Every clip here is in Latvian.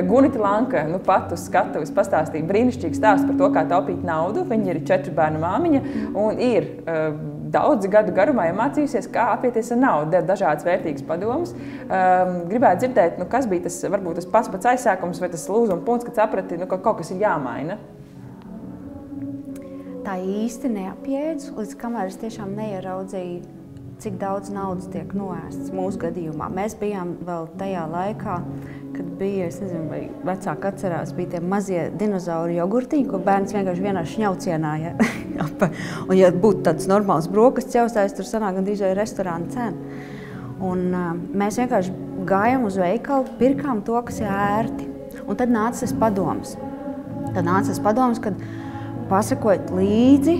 Gunita Lanka, nu pat uz skatuves pastāstīja brīnišķīgu stāstu par to, kā taupīt naudu. Viņa ir 4 bērnu māmiņa un ir daudzi gadu garumā mācījusies, kā apieties ar naudu, deva dažādas vērtīgas padomas. Gribētu dzirdēt, nu, kas bija tas, varbūt tas pats aizsākums vai tas lūzuma punkts, kad saprati, nu, ka kaut kas ir jāmaina. Tā īsti neapjēdzu, līdz kamēr es tiešām neieraudzīju, cik daudz naudas tiek noēsts mūsu gadījumā. Mēs bijām vēl tajā laikā, kad bija, es nezinu, vai vecāki atcerās, bija tie mazie dinozauri jogurtiņi, ko bērns vienkārši vienā šņaucienā. Ja? Un ja būtu tāds normāls brokastu ķaustājs, tur sanāk gandrīz vai restorāna cena. Un mēs vienkārši gājām uz veikalu, pirkām to, kas ir ērti. Un tad nāca tas padoms. Kad pasakojiet līdzi,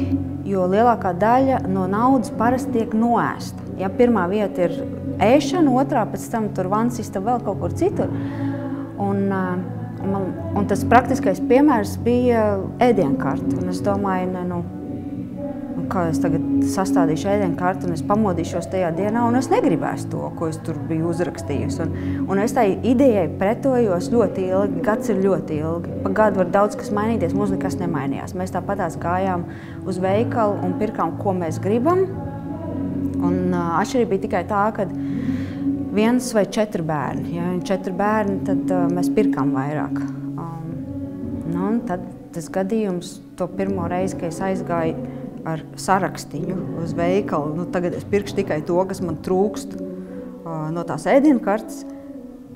jo lielākā daļa no naudas parasti tiek noēsta. Ja pirmā vieta ir ēšana, otrā pēc tam tur vansista vēl kaut kur citur. Un tas praktiskais piemērs bija ēdienkarte. Un es domāju, kā es tagad sastādīšu ēdienkarti un es pamodīšos tajā dienā un es negribēšu to, ko es tur biju uzrakstījusi. Un es tai idejai pretojos ļoti ilgi, gads ir ļoti ilgi. Pa gadu var daudz kas mainīties, mums nekas nemainījās. Mēs tāpatās gājām uz veikalu un pirkām, ko mēs gribam. Un atšķirība bija tikai tā, ka 1 vai 4 bērni. Ja 4 bērni, tad mēs pirkām vairāk. Un tad tas gadījums, to pirmo reizi, kad es aizgāju ar sarakstiņu uz veikalu. Tagad es pirkšu tikai to, kas man trūkst no tās ēdienkartes.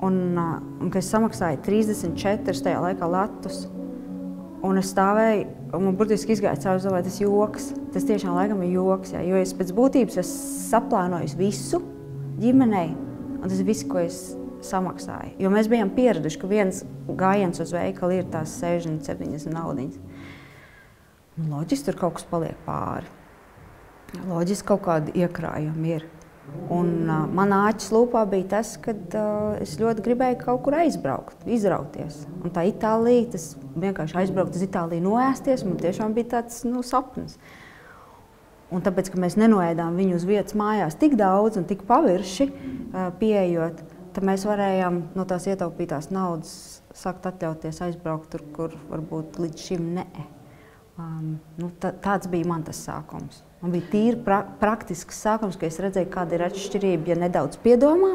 Un kad es samaksāju 34 tajā laikā latus, un es stāvēju, un man burtiski izgāja cauri, domāju, tas joks. Tas tiešām laikam ir joks, ja? Jo es pēc būtības esmu saplānojis visu ģimenei, un tas ir viss, ko es samaksāju. Jo mēs bijām pieraduši, ka viens gājiens uz veikalu ir tās 60-70 naudiņas. Loģiski tur kaut kas paliek pāri. Loģiski kaut kādi iekrājumi ir. Un manā āķis lūpā bija tas, kad es ļoti gribēju kaut kur aizbraukt, izrauties. Un tā Itālija, tas vienkārši aizbraukt uz Itāliju noēsties, man tiešām bija tāds sapnis. Un tāpēc, ka mēs nenoēdām viņu uz vietas mājās tik daudz un tik pavirši pieejot, tad mēs varējām no tās ietaupītās naudas sākt atļauties aizbraukt tur, kur varbūt līdz šim ne. Tāds bija man tas sākums. Man bija tīri praktisks sākums, ka es redzēju, kāda ir atšķirība, ja nedaudz piedomā,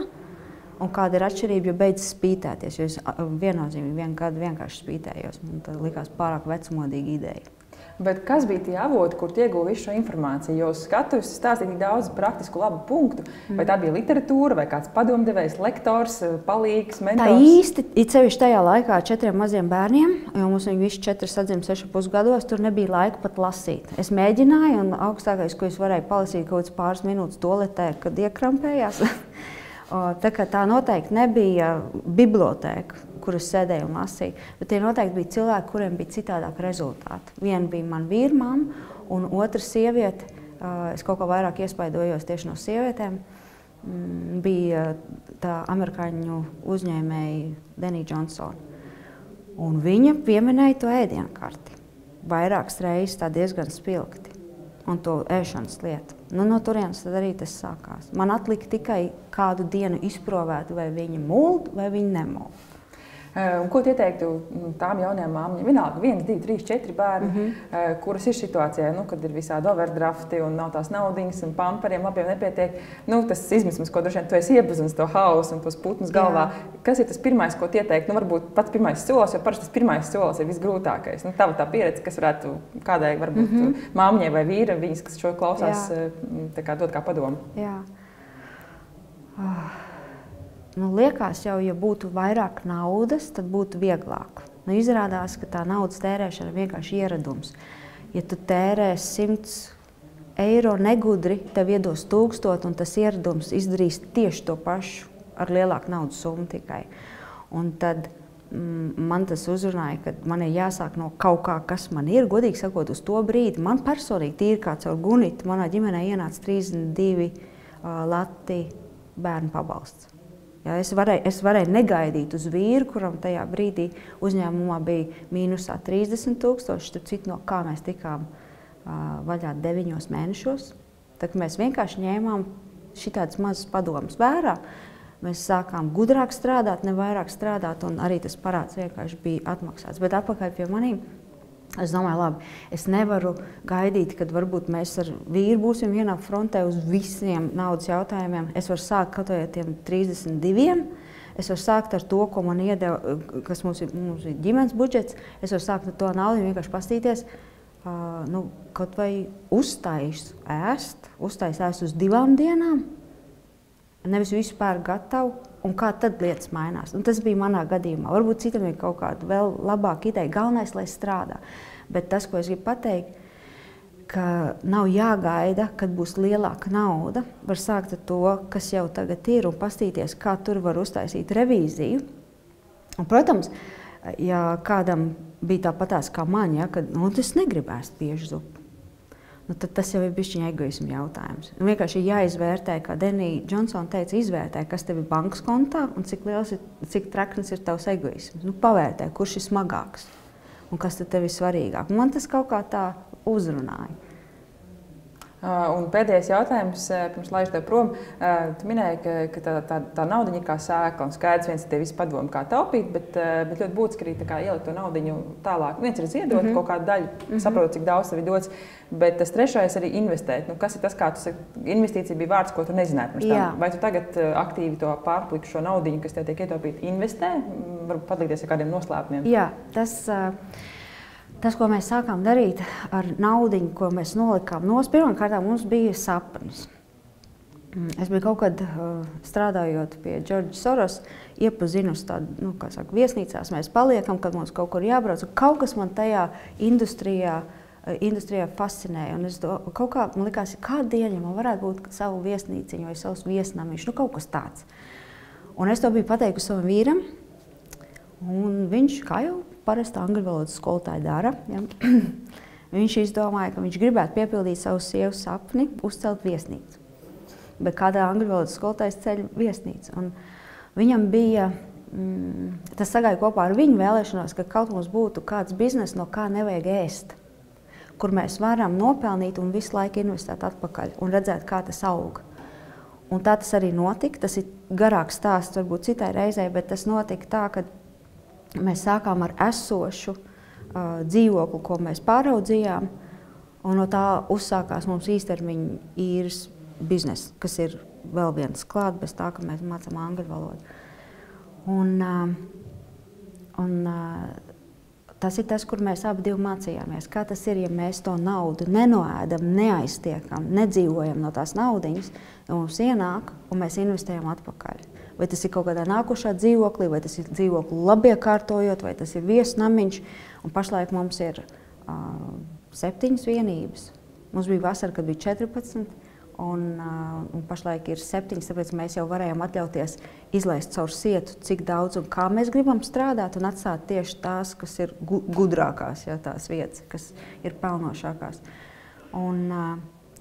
un kāda ir atšķirība, ja beidz spītēties. Jo es viennozīmīgi 1 gadu vienkārši spītējos. Man tā likās pārāk vecmodīga ideja. Bet kas bija tie avoti, kur ieguva visu šo informāciju? Jo uz skatuves stāstīja tik daudz praktisku labu punktu. Vai tā bija literatūra, vai kāds padomdevējs, lektors, palīgs, mentors? Tā īsti, it sevišķi tajā laikā 4 maziem bērniem, jo mums viņi visi 4 sadzima 6,5 gados, tur nebija laika pat lasīt. Es mēģināju, un augstākais, ko es varēju palasīt kaut kāds pāris minūtes toaletē, kad iekrampējās. Tā noteikti nebija bibliotēka, kur es sēdēju un lasīju, bet tie noteikti bija cilvēki, kuriem bija citādāk rezultāti. Viena bija man vīrmama, un otra sieviete, es kaut kā vairāk iespaidojos tieši no sievietēm, bija tā amerikāņu uzņēmēja Denija Džonsona. Un viņa pieminēja to ēdienkarti. Vairākas reizes tā diezgan spilgti. Un to ēšanas lietu. No turienes tad arī tas sākās. Man atlika tikai kādu dienu izprovēt, vai viņi muld, vai viņi nemuld. Un ko tu ieteiktu tām jaunajām māmiņām? Vienalga 1, 2, 3, 4 bērni, kuras ir situācijā, kad ir visādi overdrafti un nav tās naudiņas un pamperiem labiem nepietiek. Tas izmisums, ko droši vien tu esi iepazinis, to hausu un tos putnus galvā. Kas ir tas pirmais, ko tu ieteiktu? Varbūt pats pirmais solis, jo parasti tas pirmais solis ir visgrūtākais. Tava tā pieredze, kas varētu kādai varbūt māmiņai vai vīra, viņas, kas šo klausās, dot kā padomu. Jā. Liekas jau, ja būtu vairāk naudas, tad būtu vieglāk. Izrādās, ka tā naudas tērēšana ir vienkārši ieradums. Ja tu tērē 100 eiro negudri, tev iedos 1000, un tas ieradums izdarīs tieši to pašu ar lielāku naudas summu tikai. Un tad man tas uzrunāja, ka man ir jāsāk no kaut kā, kas man ir. Godīgi sakot, uz to brīdi man personīgi tīri kā caur Gunitu manā ģimenē ienāca 32 lati bērnu pabalsts. Ja, es varēju negaidīt uz vīru, kuram tajā brīdī uzņēmumā bija mīnusā 30 000, starp citu, no kā mēs tikām vaļā 9 mēnešos. Tad mēs vienkārši ņēmām šitādas mazas padomas vērā. mēs sākām gudrāk strādāt, ne vairāk strādāt, un arī tas parāds vienkārši bija atmaksāts. Bet atpakaļ pie manīm, es domāju, labi, es nevaru gaidīt, kad varbūt mēs ar vīru būsim vienā frontē uz visiem naudas jautājumiem. Es varu sākt kaut vai ar tiem 32. Es varu sākt ar to, ko man iedeva, kas mums ir ģimenes budžets. Es varu sākt ar to naudu un vienkārši pastīties, kaut vai uztais ēst uz 2 dienām. Nevis vispār gatavu, un kā tad lietas mainās. Un tas bija manā gadījumā. Varbūt citam ir kaut kāda vēl labāka ideja. Galvenais, lai strādā. Bet tas, ko es gribu pateikt, ka nav jāgaida, kad būs lielāka nauda. Var sākt ar to, kas jau tagad ir, un pastīties, kā tur var uztaisīt revīziju. Un, protams, ja kādam bija tāpatās kā man, kad es negribu ēst bieži zupu. Tad tas jau ir bišķiņa egoisma jautājums. Vienkārši ir jāizvērtē, kā Denija Džonsona teica, izvērtē, kas tev ir bankas kontā un cik traknis ir tavs egoisms. Pavērtē, kurš ir smagāks un kas tev ir svarīgāk. Man tas kaut kā tā uzrunāja. Un pēdējais jautājums, pirms laižu tev prom. Tu minēji, ka tā naudiņa ir kā sēkla, un skaidrs viens ir tie visi padomi, kā taupīt, bet ļoti būtiski arī ielikt to naudiņu tālāk. Viens ir ziedot kaut kādu daļu, saprot, cik daudz tev ir dots, bet tas trešais arī investēt. Kas ir tas, kā tu saki, investīcija bija vārds, ko tu nezināji pirms tam? Vai tu tagad aktīvi to pārpliku šo naudiņu, kas tev tiek ietaupīta, investē? Varbūt padalīties ar kādiem noslēpumiem? Jā, Tas, ko mēs sākām darīt ar naudiņu, ko mēs nolikām nost, pirmkārt mums bija sapnis. Es biju kaut kad strādājot pie Džordža Soros, iepazinusi tādu, viesnīcās mēs paliekam, kad mums kaut kur jābrauc. Kaut kas man tajā industrijā fascinēja. Un kaut kā man likās, kādu dienu man varētu būt savu viesnīciņu vai savus viesnamiņus, kaut kas tāds. Un es to biju pateikusi savam vīram, un viņš, kā jau parasti angļu valodas skolotāji dara, viņš izdomāja, ka viņš gribētu piepildīt savu sievas sapni, uzcelt viesnīcu. Bet kādā angļu valodas skolotājs ceļ viesnīcu. Un viņam bija, tas sagāja kopā ar viņu vēlēšanos, ka kaut mums būtu kāds biznes, no kā nevajag ēst, kur mēs varam nopelnīt un visu laiku investēt atpakaļ un redzēt, kā tas aug. Un tā tas arī notika. Tas ir garāks stāsts, varbūt citai reizei, bet tas notika tā, ka mēs sākām ar esošu dzīvokli, ko mēs pāraudzījām, un no tā uzsākās mums īstermiņa īres biznesa, kas ir vēl viens klāt, bez tā, ka mēs mācām angļu valodu. Un tas ir tas, kur mēs abi mācījāmies. Kā tas ir, ja mēs to naudu nenoēdam, neaiztiekam, nedzīvojam no tās naudiņas, ja mums ienāk un mēs investējam atpakaļ. Vai tas ir kaut kādā nākošā dzīvoklī, vai tas ir dzīvokli labiekārtojot, vai tas ir viesnamiņš. Un pašlaik mums ir 7 vienības. Mums bija vasara, kad bija 14, un pašlaik ir 7, tāpēc mēs jau varējām atļauties izlaist caur sietu, cik daudz un kā mēs gribam strādāt, un atstāt tieši tās, kas ir gudrākās, tās vietas, kas ir pelnošākās. Un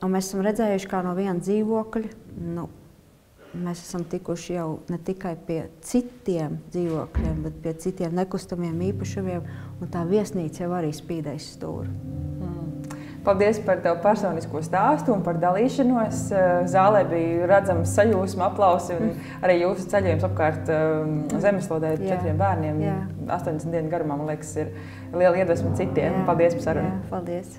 mēs esam redzējuši, kā no viena dzīvokļa, mēs esam tikuši jau ne tikai pie citiem dzīvokļiem, bet pie citiem nekustamiem īpašumiem, un tā viesnīca jau arī spīdēs stūri. Paldies par tavu personisko stāstu un par dalīšanos. Zālē bija redzams sajūsma, aplausi un arī jūsu ceļojums apkārt zemeslodē 4 bērniem. 80 dienu garumā, man liekas, ir liela iedvesma citiem. Paldies par sarunu. Paldies.